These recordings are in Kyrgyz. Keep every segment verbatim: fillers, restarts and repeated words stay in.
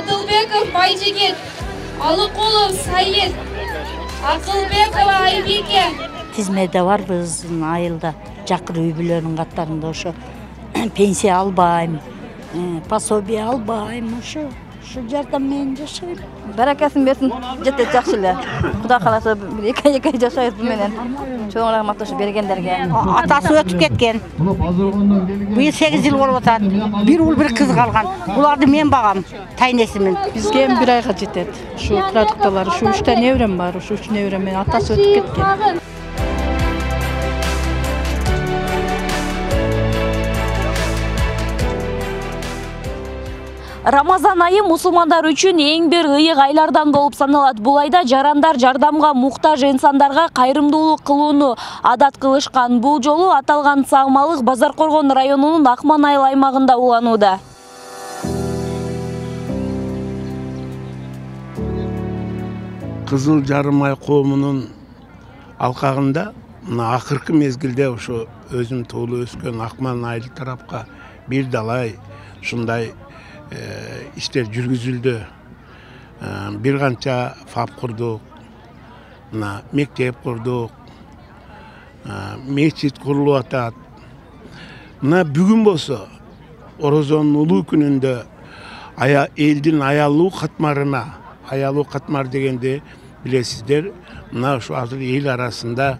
Адылбеков Байжигит, Алыкулов Саид, Акылбекова Айбике. Тизмеде барбыз айылда, жакыр үй бүлөнүн каттарында ошо пенсия албайм, пособие албайм, ошо Şu жардам менен жашайм. Баракасын берсин, жетет жакшы эле. Кудай кааласа бир эки ай жашайбыз бу менен. Чоң рахмат ошо бергендерге. Атасы өтүп кеткен. Быйыл сегиз жыл болуп атат. Бир уул бир кыз калган. Буларды мен багам, тайнесимин. Бизге эми бир айга жетет. Ушу продукталар, ушу үч та неберем бар, ушу үч неберем менен атасы өтүп кеткен. Рамазан айы мусулмандар үчүн эң бир ыйык айлардан болуп саналат. Бул айда жарандар жардамга муктаж инсандарга кайрымдуулук кылууну адат кылышкан. Бул жолу аталган саамалык Базаркоргон районунун Акман айыл аймагында уланууда. Кызыл жарым ай коомунун алкагында акыркы мезгилде ошо өзүм туулуп өскөн Акман айыл тарапка бир далай ушундай иштер жүргүзүлдү. Бир канча фаб курдук, мектеп курдук, мечит курулуп атат. Мына бүгүн болсо Орозонун улуу күнүндө элдин аялуу катмарына, аялуу катмар дегенде билесиздер, мына ушу азыр эл арасында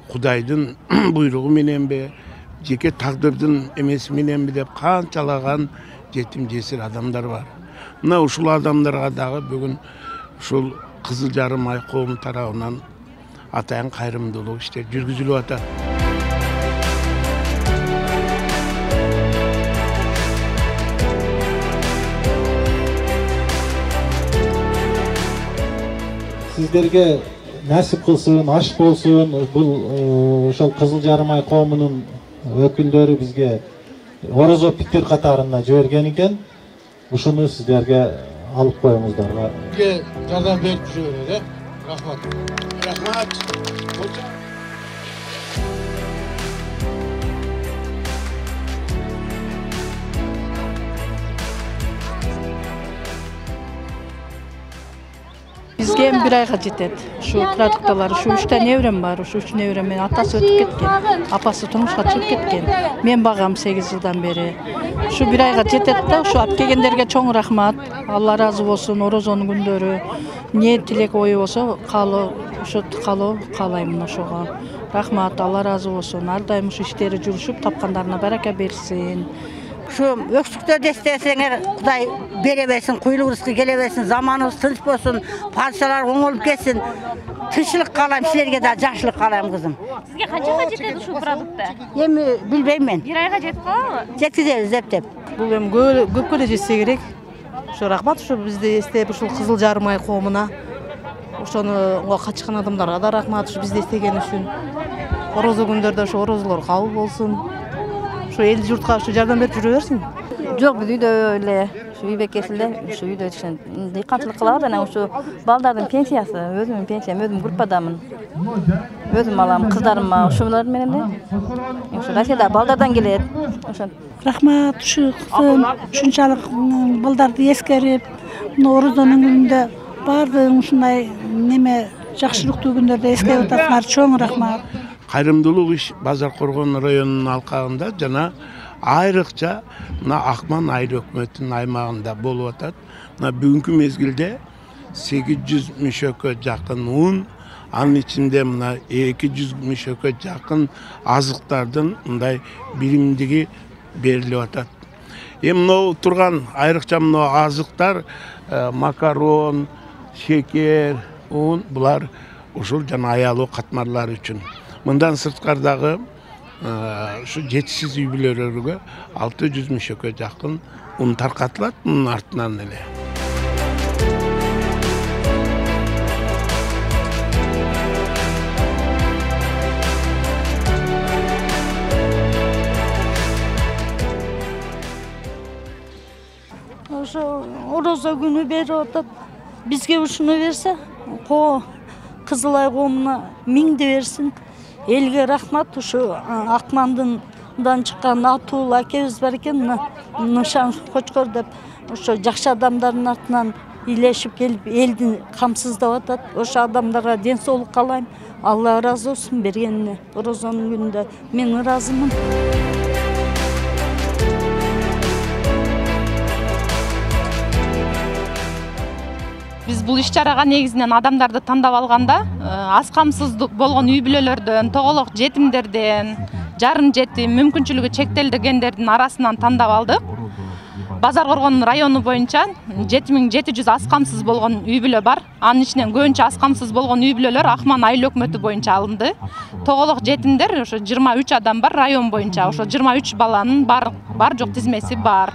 Кудайдын буйругу мененби, жеке тагдырдын эмеси мененби деп канчалаган жетим жесир адамдар бар. Мына ушул адамдарга дагы бүгүн ушул Кызыл жарым ай коому тарабынан атайын кайрымдуулук иштер жүргүзүлүп атат. Сиздерге насип кылсын, аш болсун. Бул ошол Кызыл жарым ай коомунун өкүлдөрү бизге орозо питтер катарына жиберген экен. Ушуну сиздерге алып коюңуздарга. Бизге жардам берип жүрөбүз, э? Рахмат. Рахмат. Бизге эми бир айга жетет. Ушу продукталар, ушу үч та неберем бар, ушу үч неберем менен атасы өтүп кеткен. Апасы турмушка чыгып кеткен. Мен багам сегиз жылдан бери. Ушу бир айга жетет да, ушу алып келгендерге чоң рахмат. Алла ыраазы болсун, Орозонун күндөрү эмне тилек ою болсо, каалоо, ошо каалоо каалайм ошого. Рахмат, Алла ыраазы болсун. Ар дайым ушу иштери жүрүшүп, тапкандарына барака берсин. Şu öksüktörde istesene Kuday bere versin, kuyulu rızkı gele versin, zamanımız tınç bolsun, parçalar oңолуп ketsin. Tınçlık kalayım, sizlerge de жақшылық kalayım kızım. Sizge kançaga жетет ушул продуктта? Эми билбейм мен. Бир айга жетип калабы? Жеткизебиз деп. Бул эми көпкө эле жетсе керек. Ошо рахмат, ушу бизди эстеп ушул Кызыл жарым ай коомуна. Ошону качкан адамдарга да рахмат, ушу бизди эстеген үчүн. Орозо күндөрдө ошо орозолор кабыл болсун. Ошо эл журтка ушу жардам берип жүрө берсин. Жок, биз үйдө эле ушу үй бекесилде ушу үйдө киши дыйканчылык кылабыз, анан ушу балдардын пенсиясы, өзүмдүн пенсиям, өзүм группадамын. Өзүм алам, кыздарыма ушулар менен эле. Ушу Россияда балдардан келет. Ошо. Рахмат, ушу кызым ушунчалык балдарды эскерип, Орозонун күнүндө баардыгын ушундай неме жакшылыктуу күндөрдө эскерип атасыңар, чоң рахмат. Кайрымдуулук иш Базаркоргон районунун алкагында жана айрыкча мына Акман айыл өкмөтүнүн аймагында болуп атат. Мына бүгүнкү мезгилде сегиз жүз мүшөккө жакын un, анын ичинде мына эки жүз мүшөккө жакын азыктардын мындай биримдиги берилип атат. Эми мына турган айрыкча мына азыктар макарон, шекер, un булар ушул жана аялуу катмарлар үчүн. Мындан сырткардагы ушу жетишсиз үй бүлөлөргө алты жүз мүшөккө жакын un таркатылат, мунун артынан эле. Ошо орозо күнү берип атат. Бизге ушуну берсе, ко Кызыл ай коомуна миңди берсин. Элге рахмат, ушу Акмандындан чыккан Атуул акебиз бар экен, Нышан Кочкор деп. ошо жакшы адамдардын артынан илешип келип элди камсыздап атат. Ошо адамдарга ден соолук каалайм. Алла ыраазы болсун бергенине. Орозонун күнүндө мен ыраазымын. Биз бул иш-чарага негизинен адамдарды тандап алганда, аз камсыз болгон үй бүлөлөрдөн, тоголок жетимдерден, жарым жетим, мүмкүнчүлүгү чектелгендердин арасынан тандап алдык. Базар Коргон району боюнча жети миң жети жүз аз камсыз болгон үй бүлө бар. Анын ичинен көбүнчө аз камсыз болгон үй бүлөлөр Акман айыл өкмөтү боюнча алынды. Тоголок жетимдер ошо жыйырма үч адам бар район боюнча. Ошо жыйырма үч баланын бар бар жок тизмеси бар.